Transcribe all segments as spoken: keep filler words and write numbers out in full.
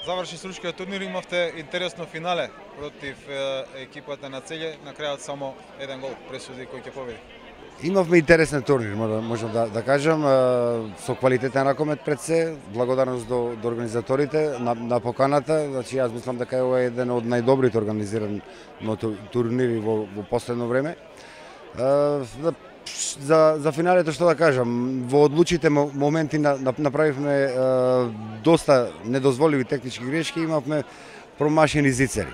Заврши случкиот турнир, имавте интересно финале против екипата на Целје, на крајот само еден гол пресуди кој ќе победи. Имавме интересен турнир, можам да, да кажам, со квалитетен ракомет пред се, благодарност до, до организаторите на, на поканата. Значи, јас мислам дека ова е еден од најдобрите организирани турнири во, во последно време. За, за финалето што да кажам, во одлучите моменти направивме е, доста недозволиви технички грешки, имавме промашени зицери.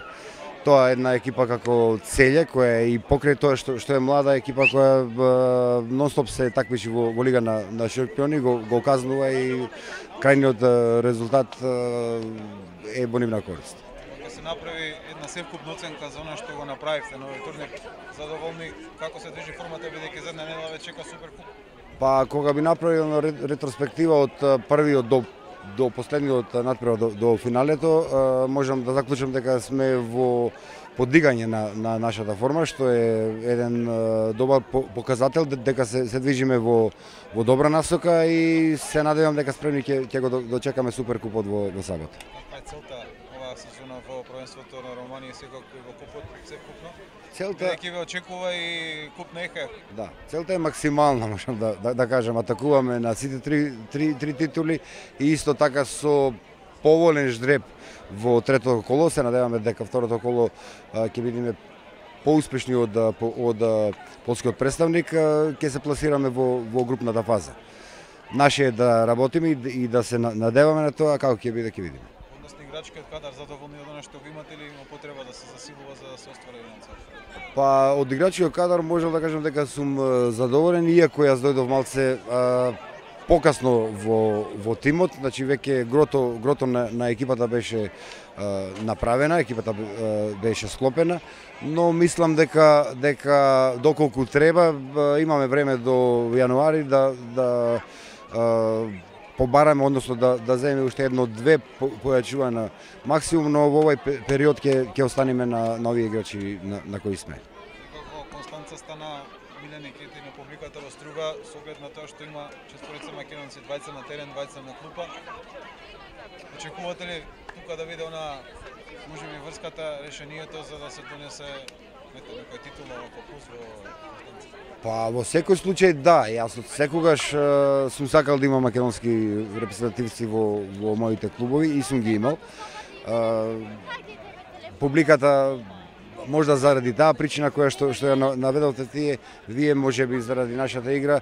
Тоа е една екипа како Целје, која е и покрај тоа што, што е млада екипа која нон-стоп се такмичи во, во Лига на, на шампиони, го, го казнува и крајниот резултат е во нивна корист. Се направи една севкупна оценка за она што го направивте на овој турнир. Задоволни како се движи формата, бидејќи за една недела ве чека Суперкуп? Па кога би направил ретроспектива од првиот до до последниот надпревар до, до финалето, можам да заклучам дека сме во подигање на, на нашата форма, што е еден добар показател дека се, се движиме во, во добра насока и се надевам дека спремни ќе, ќе го дочекаме Суперкупот во, во сабот. Каква е целта оваа сезона во првенството на Романија и секако и во купот севкупно? Целта Бидејќи ве очекува и куп на ЕХФ. Да, целта е максимална, можам да, да, да кажам, атакуваме на сите три, три, три титули и исто така со поволен ждреб во третото коло. Се надеваме дека второто коло ќе бидеме поуспешни од, од полскиот представник, ќе се пласираме во, во групната фаза. Наше е да работиме и да се надеваме на тоа, како ќе биде, ќе видиме. Односно играчкиот кадар задоволни од она што го имате или има потреба да се засилува за да се оствари еден цел? Па од играчкиот кадар можам да кажам дека сум задоволен, иако јас дојдов малце а, покасно во во тимот, значи веќе грото грото на, на екипата беше а, направена, екипата а, беше склопена, но мислам дека дека доколку треба имаме време до јануари да да а, побараме, односно да да земеме уште едно-две појачувања максимум, но во овој период ќе ќе останеме на на овие играчи на, на кои сме. Како Констанца стана миленик и на публиката во Струга, со оглед на тоа што има четворица македонци, двајца на терен, двајца на клупа. Очекувате ли тука да биде она можеби врската, решението за да се донесе некоја титула во плюс во Констанца? Па во секој случај да, јас од секогаш е, сум сакал да имам македонски репрезентативци во во моите клубови и сум ги имал. Е, публиката можда заради таа причина која што што ја наведовте тие, вие можеби заради нашата игра е,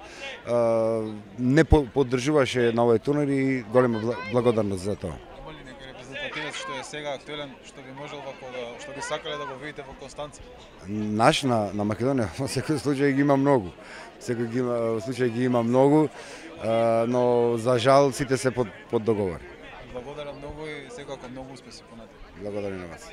не поддржуваше на овој турнир и голема благодарност за тоа. Има ли некој репрезентативец што е сега актуелен, што би можел вако да, што би сакале да го видите во Констанца? Наш на, на Македонија во секој случај ги има многу. Секој ги има случај ги има многу, а, но за жал сите се под под договор. Благодарам многу и секако многу успеси понатаму. Благодарам на вас.